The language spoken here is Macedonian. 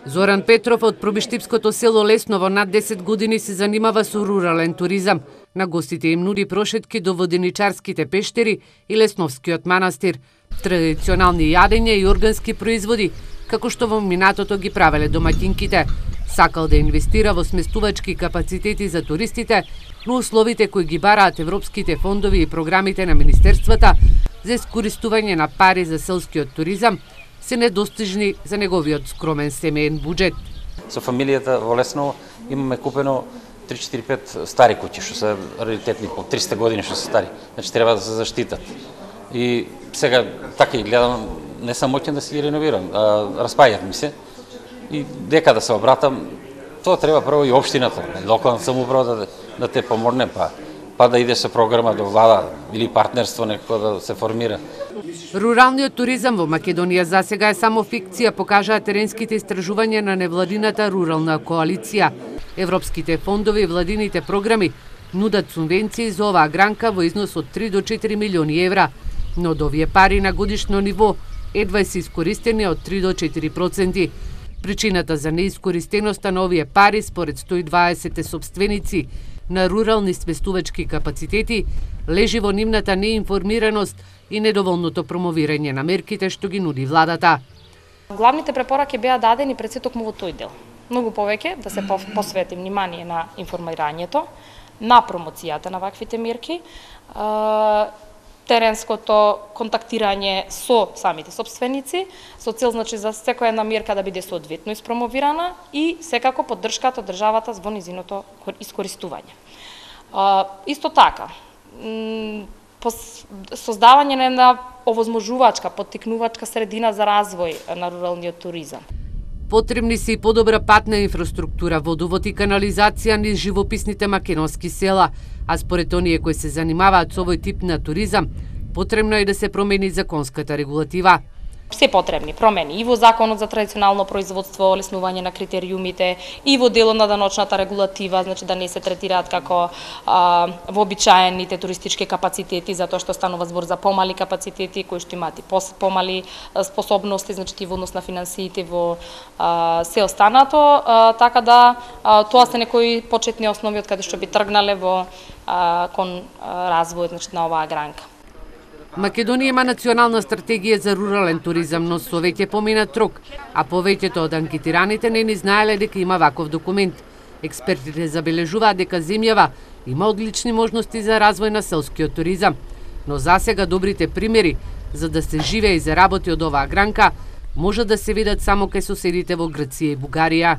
Зоран Петров од пробиштипското село Лесново над 10 години се занимава со рурален туризам. На гостите им нуди прошетки до воденичарските пештери и Лесновскиот манастир, традиционални јадења и органски производи, како што во минатото ги правеле домаќинките. Сакал да инвестира во сместувачки капацитети за туристите, но условите кои ги бараат европските фондови и програмите на министерствата за искористување на пари за селскиот туризам се недостижни за неговиот скромен семеен буџет. Со фамилијата во Лесново имаме купено 3-4-5 стари куќи, што се раритетни, по 300 години што се стари. Значи треба да се заштитат. И сега така и гледам, не сам моќен да си ги реновирам, распајат ми се. И дека да се обратам, тоа треба прво и општината, локална самоуправа да те помогне, па да иде со програма до влада или партнерство некако да се формира. Руралниот туризам во Македонија засега е само фикција, покажаа теренските истражувања на невладината рурална коалиција. Европските фондови и владините програми нудат субвенции за оваа гранка во износ од 3 до 4 милиони евра, но од овие пари на годишно ниво едва се искористени од 3 до 4%. Причината за неискористеноста на овие пари, според 120 собственици на рурални сместувачки капацитети, лежи во нивната неинформираност и недоволното промовирање на мерките што ги нуди владата. Главните препораки беа дадени пред се токму во тој дел. Многу повеќе да се посвети внимание на информирањето, на промоцијата на ваквите мерки, теренското контактирање со самите собственици, со цел значи за секоја една мерка да биде соодветно испромовирана и секако поддршката од државата во низиното искористување. Исто така, создавање на една овозможувачка, поттикнувачка средина за развој на руралниот туризам. Потребни се и подобра патна инфраструктура, водовод и канализација низ живописните македонски села, а според оние кои се занимаваат со овој тип на туризам, потребно е да се промени законската регулатива. Се потребни промени и во законот за традиционално производство, олеснување на критериумите, и во делот на даночната регулатива, значи да не се третираат како вообичаените туристички капацитети, затоа што станува збор за помали капацитети кои што имаат и помали способности, значи во однос на финансиите во се останато, така да тоа се некои почетни основи од каде што би тргнале во кон развојот, значи на оваа гранка. Македонија има национална стратегија за рурален туризам, но со веќе поминат рок, а повеќето од анкетираните не ни знаеле дека има ваков документ. Експертите забележуваат дека земјава има одлични можности за развој на селскиот туризам, но засега добрите примери за да се живее и заработи од оваа гранка може да се видат само кај соседите во Грција и Бугарија.